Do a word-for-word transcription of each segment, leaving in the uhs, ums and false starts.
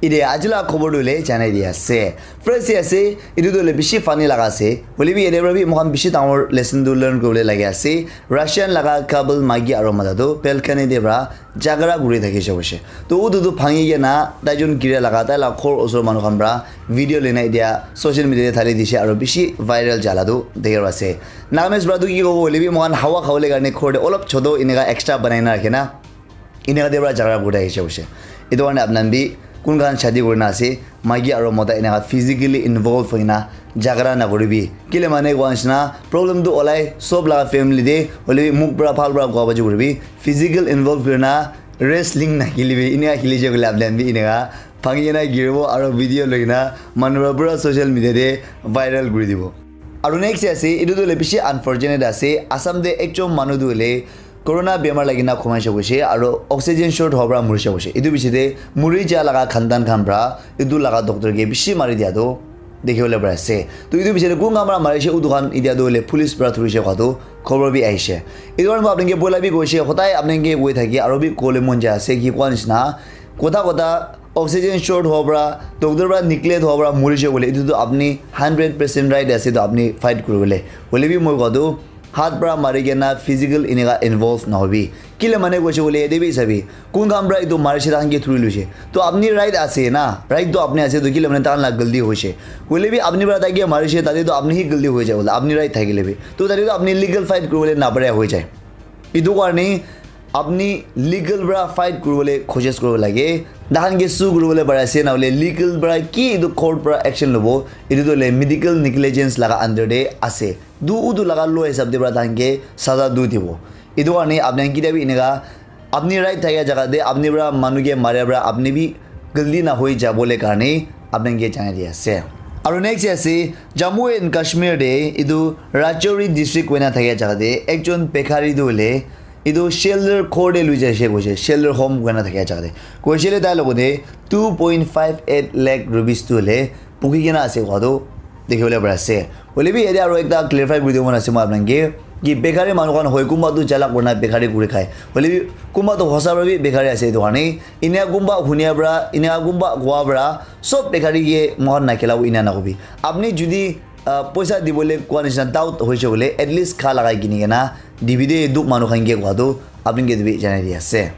Ite aji la khobor tu le janai di ase. First te ase, etu tu le bishi funny laga ase. Hoile bi yate para bi moikhan bishi dangor lesson tu learn kuribole lage ase. Russian laga couple maiki aro mota tu balcony te para jhagara kuri thakishe hoishe. To utu tu bhangi kena taijon gira laga tai la ghor osor manu khan para video loina etia social media te thali dishe aro bishi viral jala tu dikhi ase. Nagamese para tu ki kobo hoile bi moikhan hawa khabole karne ghor te olop choto eneka extra banai na rakhe na. Eneka te para jhagara kuri thakishe hoishe. Etu karne apni khan bi kun khan shadi kurina ase, maiki aro mota eneka physically involve hoina jhagara nakuribi. Kile mane koa nishina problem tu olai sob laga family te, hoile bi mukh para bhal para koa baji kuribi. Physical involve kurina wrestling nakhilibi. Eneka khilishe koile apni khan bi eneka bhangi kena giribo aro video loina manu para pura social media te viral kuri dibo. Aro next te ase, etu tu hoile bishi unfortunate ase. Assam te ekjon manu tu hoile corona bemar lagina khomaishe hoishe aro oxygen short howa para murishe hoishe. Etu bishi te muri ja laga khandan khan para etu laga doctor ke bishi mari dia tu dikhi bole pari ase. To etu bishi te kun khan para marishe utu khan etia tu hoile police para thurishe koa tu khobor bi ahishe. Etu karne moi apni ke bola bi koishe, hodai apni ke koi thaki aro bi kole mon jai ase ki koa nishina. Kotha kotha oxygen short howa para, doctor para neglect howa para murishe koile etu tu apni hundred percent right ase to apni fight kuribole. Hoile bi moi koa tu hat para mari kena physical eneka involve nahobi. Kile mane koishe koile yate bi sabi, kun khan para etu marishe takhan ke thuri loishe. To apni right ase na, right to apni ase to kile mane takhan la galti hoishe. Hoile bi apni para tai ke marishe tate to apni hi galti hoi jai bole, apni right thakile bi. To tate to apni legal fight kuribole napare hoi jai. Etu karne apni legal para fight kuribole koshish kuribo lage. Takhan ke sue kuribole pari ase, nahole legal para ki etu court para action lobo, etu tu hoile medical negligence laga under te ase. Du utu laga law hisab te para takhan ke saza du dibo. Etu karne apni khan kitia bi eneka apni right thakia jaga te apni para manu ke maria para apni bi galti na hoi jabole karne apni ke janai di ase. Aro next ase Jammu and Kashmir te etu Rajouri district koina thakia jaga te ekjon bekhari tu hoile etu shelter ghor te lui jaise koise, shelter home koina thakia jaga te. Koise le tai logote two point five eight lakh rupees tu hoile buki kena ase koa tu dikhi bole pari ase. Hoile bi yate aro ekta clarify kuri dibo mon ase moi apni khan ke, ki bekhari manu khan hoi, kunba tu chalak kurina bekhari kuri khai. Hoile bi kunba tu hosa para bi bekhari ase etu karne. Enia kunba hunia para, enia kunba koa para, sob bekhari ke moikhan nakhela bo enia nakobi. Apni judi ah, poisa dibole koa nishina doubt hoise koile, at least kha lagai kini kena dibi de, duk manu khan ke koa tu apni ke dibi janai di ase.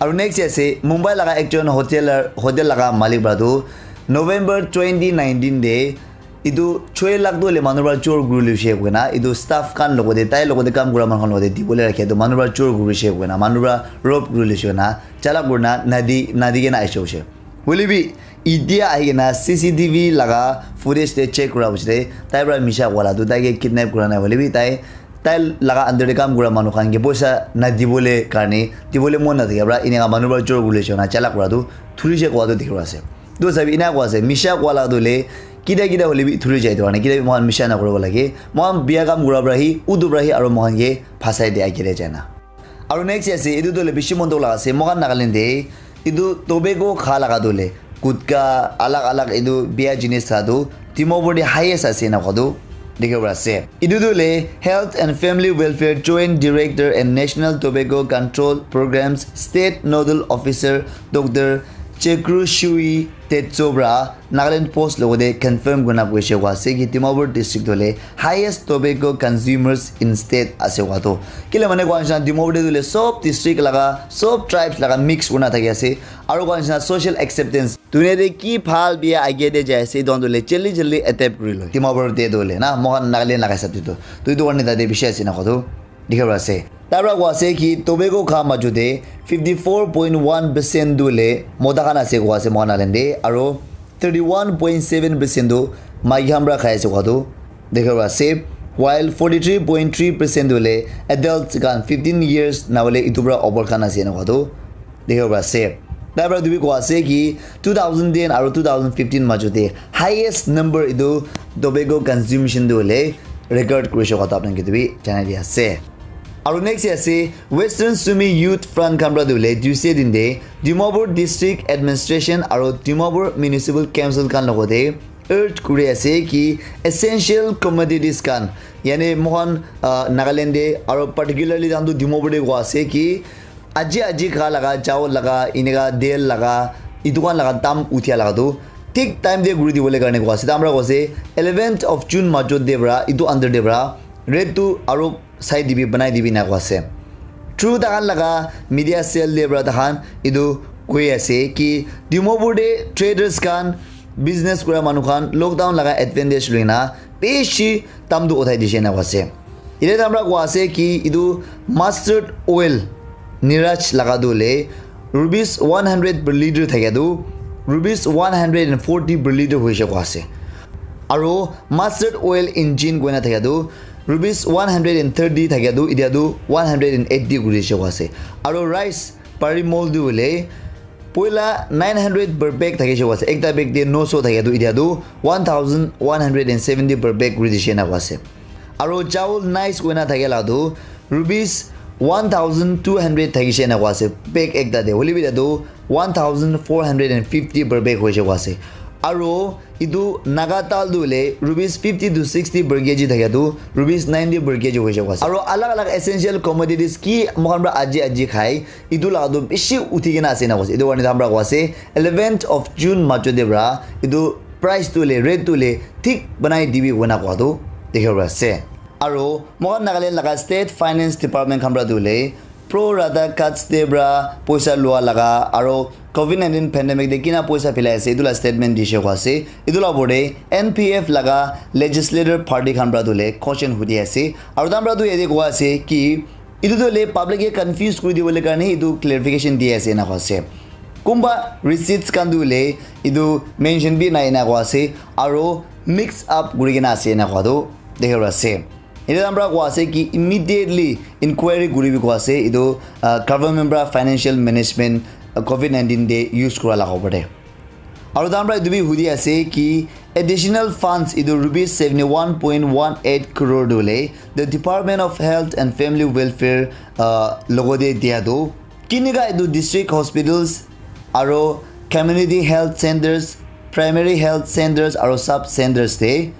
Aru next ase Mumbai laga ekjon hotel, hotel laga malik para tu November twenty nineteen de etu choi lakh tu hoile manu para chor kuri loise koina, etu staff khan logote, tai logote kam kura manu khan logote dibole rakhe tu manu para chor kuri loise koina, manu para rob kuri loise koina, chalak kurina nadi, nadi kena aise hoise. Hoile bi, itia ahi kena C C T V laga footage te check kura piche te, tai para misha koa la tu tai ke kidnap kura nai hoile bi, tai, tai laga under te kam kura manu khan ke poisa na dibole karne, dibole mon na thaka para, eneka manu para chor kuri loise na chalak kura tu, thurise koa tu dikhi ase. Tu sabi ena koa ase, misha koa la tu le, kida kida hoile bi thuri jai tu karne, kida bi moikhan misha na kuribo lage. Moikhan bia kam kura para hi, utu para hi, aru moikhan ke phasai de agere jai na. Aru next ase, etu tu hoile bishi mon dukh laga ase. Moikhan Nagaland te etu tobacco kha laga tu hoile gutka, alag alag etu bia jinis kha tu Dimapur te highest ase na koa tu dikhi bo pari ase. Etu tu hoile Health and Family Welfare Joint Director and National Tobacco Control Programs State Nodal Officer Doctor Chekru Shui Tetso para Nagaland Post logote confirm kurina koise koa ase ki Dimapur district tu hoile highest tobacco consumers in state ase koa tu. Kile mane koa nishina Dimapur te tu hoile sob district laga, sob tribes laga mix kurina thaki ase. Aru koa nishina social acceptance. Dunia te ki bhal bia age te jai ase, etu khan tu hoile jaldi jaldi adapt kuri loi. Dimapur te tu hoile na, moikhan Nagaland laga hisab te tu. Tu etu karne tate bishi ase na koa tu. Dikhi bo pari ase. Tai para koa ase ki tobacco kha maju te fifty four point one percent tu hoile mota khan ase koa ase moikhan Nagaland te, aru thirty one point seven percent tu maiki khan para khai ase koa tu dikhi bo pari ase, while forty three point three percent tu hoile adults khan fifteen years na hoile etu para upor khan ase na koa tu dikhi bo pari ase. Tai para tu bi koa ase ki two thousand ten aru two thousand fifteen maju te highest number etu tobacco consumption tu hoile record kurise koa tu apni khan ke tu bi janai di ase. Aru next ase Western Sumi Youth Front khan para tu hoile Tuesday din te Dimapur District Administration aru Dimapur Municipal Council khan logote urge kuri ase ki essential commodities khan, yani moikhan, ah, Nagaland te aru particularly tahan tu Dimapur te koa ase ki aji aji kha laga, chawal laga, eneka tel laga, etu khan laga dam uthia laga tu thik time te kuri dibole karne koa ase. Tamra koa ase eleventh of June majot te pra etu under te pra rate tu aro sai dibi, banai dibi na koa ase. Through tahan laga media cell te pra tahan etu koi ase ki Dimapur te traders khan, business kura manu khan lockdown laga advantage loina bishi dam tu uthai dishe na koa ase. Ite tamra koa ase ki etu mustard oil Niraj laga tu le rupees one hundred per liter thakia tu rupees one hundred and forty per liter hoise koa ase. Aro mustard oil engine koina thakia tu rupees one hundred and thirty thakia tu itia tu one hundred and eighty kuri dishe koa ase. Aro rice parimol tu le poila nine hundred per bag thakishe koa ase. Ekta bag te noso thakia tu itia tu one thousand one hundred and seventy per bag kuri dishe na koa ase. Aro chawal nice koina thakia la tu rupees one thousand two hundred thakishe na koa ase bag ekta te. Hoile bi itia tu one thousand four hundred and fifty per bag hoise koa ase. Aro etu Naga dal tu hoile rupees fifty to sixty per kg thakia tu rupees ninety per kg hoise koa ase. Aro alag alag essential commodities ki moikhan pra aji aji khai, etu laga tu bishi uthi kena ase na koa ase. Etu karne tamra koa ase eleventh of June majot te pra etu price tu le, rate tu le thik banai dibi koina koa tu dikhi pra ase. Aro moikhan Nagaland laga State Finance Department khan pra tu le pro rata cuts te pra poisa lua laga aro covid nineteen pandemic te kina poisa philai ase etu la statement dishe koa ase. Etu la opor te N P F laga legislator party khan pra tu le question hudi ase. Aro tamra tu yate koa ase ki etu tu le public ke confuse kuri dibole karne etu clarification di ase na koa ase. Kumba receipts khan tu le etu mention bi nai na koa ase aro mix up kuri kena ase na koa tu dikhi pra ase. Etu tamra koa ase ki immediately inquiry kuri bi koa ase etu, ah, government pra financial management, ah, covid nineteen te use kura laga opor te. Aro tamra etu bi hudi ase ki additional funds etu rupees seventy one point one eight crore tu le the Department of Health and Family Welfare, ah, logo te dia tu kinika etu district hospitals aro community health centers, primary health centers aro sub centers te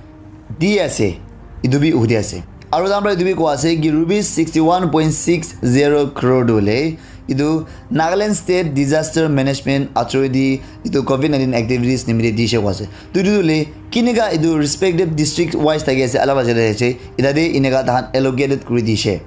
di ase, etu bi hudi ase. Aro tamra etu bi koa ase ki rupees sixty one point six zero crore tu le etu Nagaland State Disaster Management Authority etu covid nineteen activities nimite dishe koa ase. Tu etu tu le kinika etu respective district wise thaki ase, alag alag jagah ase, eta te eneka tahan allocated kuri dishe,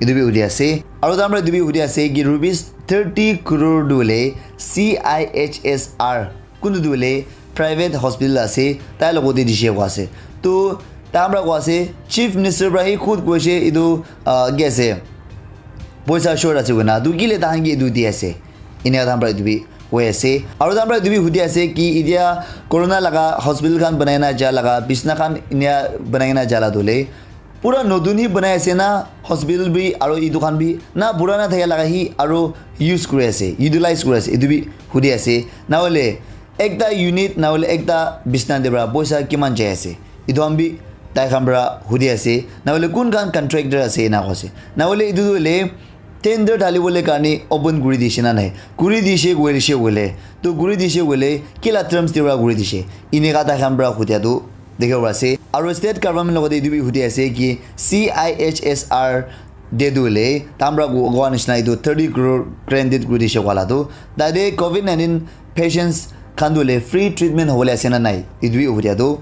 etu bi hudi ase. Aro tamra etu bi hudi ase ki rupees thirty crore tu le C I H S R kuntu tu hoile private hospital ase, tai logote dishe koa ase. Tu tamra koa ase, Chief Minister pra hi khud koise etu, ah, ki ase, poisa short ase koina. Tu kile tahan ke etu di ase. Enia tahan pra etu bi koi ase. Aro tahan pra etu bi hudi ase ki itia corona laga hospital khan banai na ja laga, bisna khan enia banai na ja la tu le pura notun hi banai ase na, hospital bi aro etu khan bi na purana thaka laga hi aro use kuri ase, utilize kuri ase, etu bi hudi ase. Na hoile ekta unit na hoile ekta bisna te pra poisa kiman jai ase, etu khan bi tai khan pra hudi ase. Na hoile kun khan contractor ase ena koise. Na hoile etu tu hoile tender dhali bole karne open kuri dishe na nai, kuri dishe koile, to kuri dishe koile kila terms te pra kuri dishe, eneka tai khan pra hudia tu dikhibo pari ase. Aro state government logote etu bi hudi ase ki C I H S R te tu hoile tamra koa nishina etu thirty crore granted kuri dishe koa la tu, tate covid nineteen patients khan tu hoile free treatment hobole ase na nai, etu bi hudia tu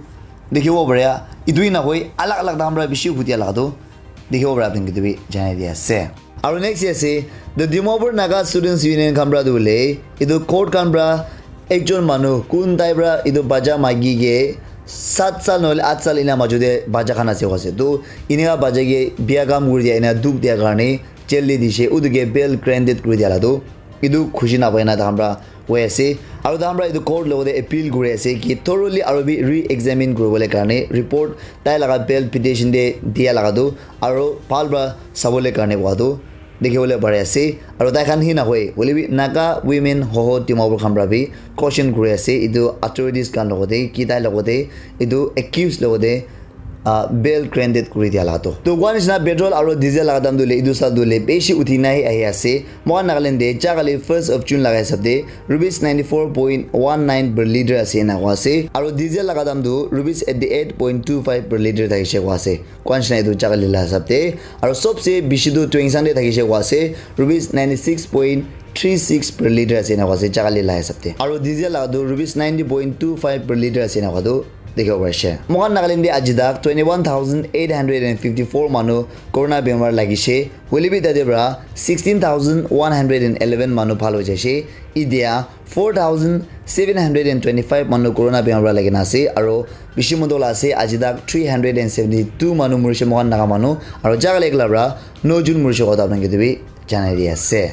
dikhibo pare. Etu hi nahoi alag alag tamra bishi hudia la tu dikhibo pare, apni khan ke etu bi janai di ase. Aro next ase, the Dimapur Naga Students Union khan pra tu hoile etu court khan pra ekjon manu kun tai pra etu bacha maiki ke sat sal nohoile at sal ena majo te bacha khan ase koa ase. To eneka bacha ke bia kam kuri dia, ena dukh dia karne jail te dishe, utu ke bail granted kuri dia la tu etu khushi napai na takhan pra koi ase. Aro takhan pra etu court logote appeal kuri ase ki thoroughly aro bi re-examine kuribole karne report tai laga bail petition te dia laga tu aro bhal pra sabole karne koa tu dikhibole pari ase. Aro tai khan hi nahoi, hoile bi Naga Women Hoho Dimapur khan pra bi question kuri ase etu authorities khan logote, ki tai logote, etu accused logote, ah, bail granted kuri dia la to. To koa nishina petrol aro diesel laga dam tu hoile etu sal tu hoile bishi uthi na hi ahi ase. Moikhan Nagaland te ja kali first of June laga hisab te rupees ninety four point one nine per litre ase ena koa ase. Aro diesel laga dam tu rupees eighty eight point two five per litre thakishe koa ase. Koa nishina etu ja kali la hisab te. Aro sobse bishi tu Tuensang te thakishe koa ase, rupees ninety six point three six per liter ase ena koa ase jaga le la hisab te. Aro diesel la tu rupees ninety point two five per liter ase ena koa tu dikhibo pari ase. Moikhan Nagaland te aji tak twenty one thousand eight hundred and fifty four manu corona bemar lagise. Hoile bi tate pra sixteen thousand one hundred and eleven manu bhal hoi jaise. Itia four thousand seven hundred and twenty five manu corona bemar pra lagina ase aro bishi moto la ase aji tak three hundred and seventy two manu murise moikhan Naga manu aro jaga le ekla pra no jun murise koa ta apni khan ke bi janai di ase.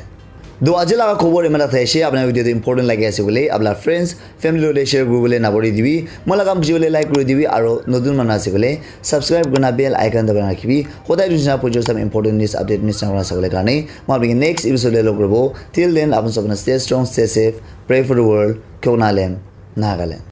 Do aji laga khobor iman tak thaise, apna video tu important lagi ase bole apna friends family lo share kuri bole nabori dibi. Moi laga kam bujibole like kuri dibi aro notun manu ase bole subscribe kurina bell icon dabai rakhibi. Hodai dun jana pujo sam important news update miss na kurina sabole karne. Moi apni next episode le log koribo. Till then, apun sabna stay strong, stay safe, pray for the world. Kyona lem, Nagaland.